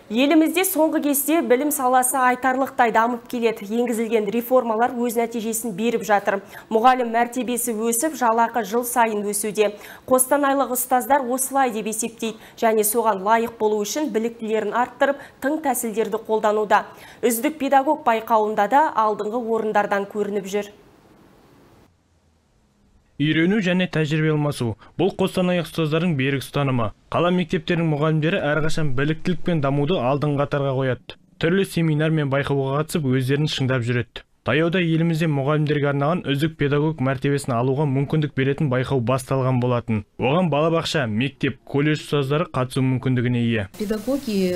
Елімізде соңғы кезде білім саласы айтарлықтай дамып келеді. Енгізілген реформалар өз нәтижесін беріп жатыр. Мұғалім мәртебесі өсіп, жалақы жыл сайын өсуде. Қостанайлық ұстаздар осылай деп есептейді және соған лайық болу үшін біліктілерін арттырып, тың тәсілдерді қолдануда. Үздік педагог байқауында да алдыңғы орындардан көрініп жүр. Үйрену және тәжірибе алмасу. Бұл Қостанай ұстаздардың берік ұстанымы. Қала мектептерінің мұғалімдері әрқашан біліктілік пен дамуды алдыңғы қатарға қояды. Түрлі семинар мен байқауға қатысып, өздерін шыңдап жүреді. Таяуда елімізде мұғалімдерге арналған үздік педагог мәртебесін алуға мүмкіндік беретін байқау басталған болатын. Оған балабақша, мектеп, колледж ұстаздары қатысу мүмкіндігіне ие. Педагоги,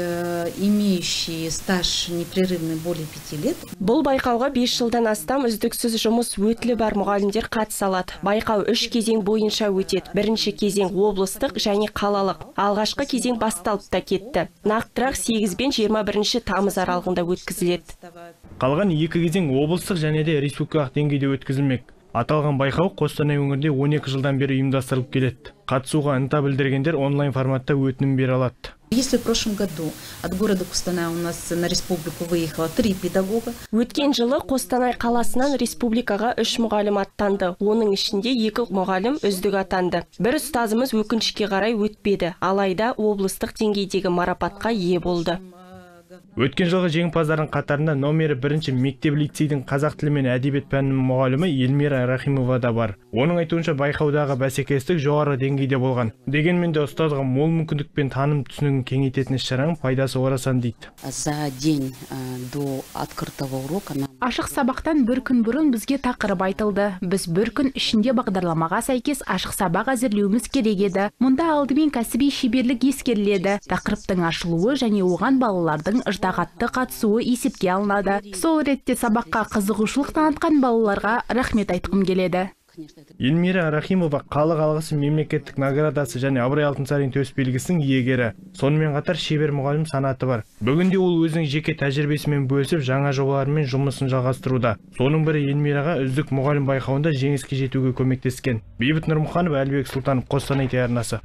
имеющие стаж непрерывный более 5 лет. Бұл байқауға 5 жылдан астам үздіксіз жұмыс өтілі бар мұғалімдер қатыса алады. Байқау 3 кезең бойынша өтеді. Бірінші кезең облыстық және қалалық. Алғашқы кезең басталып та кетті. Нақтырақ 8 бен 21 тамыз аралығында өткізіледі. Қалған 2 кезең облыстық және де республикалық деңгейде өткізілмек. Аталған байқау Қостанай өңірінде 12 жылдан бері ұйымдастырылып келеді. Қатысуға ынта білдіргендер онлайн форматта өтінім бере алады. Если в прошлом году от города Костанай у нас на республику выехало 3 педагога. Өткен жылы Қостанай қаласынан республикаға 3 мұғалім аттанды. Оның ішінде 2 мұғалім үздік атанды. Бір ұстазымыз өкінішке қарай өтпеді. Алайда облыстық деңгейдегі марапатқа ие болды. Өткен жылғы жеңімпаздардың қатарында номері 1 мектеп-лицейдің қазақ тілі мен әдебиет пәнінің мұғалімі Эльмира Рахимова да бар. Оның айтуынша байқаудағы бәсекелестік жоғары деңгейде болған. Дегенмен де ұстазға мол мүмкіндік пен таным түсінігін кеңейтетін іс-шараның пайдасы орасан дейді. За день до открытого урока ашық сабақтан бір күн бұрын бізге тақырып айтылды. Біз бір күн ішінде бағдарламаға сәйкес ашық сабақ әзірлеуіміз керек еді. Мұнда алдымен кәсіби шеберлік ескеріледі. Тақырыптың ашылуы және оған балалардың ыждағатты қатысуы есепке алынады. Сол ретте сабаққа қызығушылық танытқан балаларға рахмет айтқым келеді. Эльмира Рахимова халық алғысы мемлекеттік наградасы және Абырой Алтынсарин төсбелгісінің иегері. Сонымен қатар шебер мұғалім санаты бар. Бүгінде ол өзінің жеке тәжірибесімен бөлісіп, жаңа жобалармен жұмысын жалғастыруда. Соның бірі Эльмираға үздік мұғалім байқауында жеңіске жетуге көмектескен. Бейбіт Нұрмұханов, Әлібек Сұлтанов, Қостанай телеарнасы.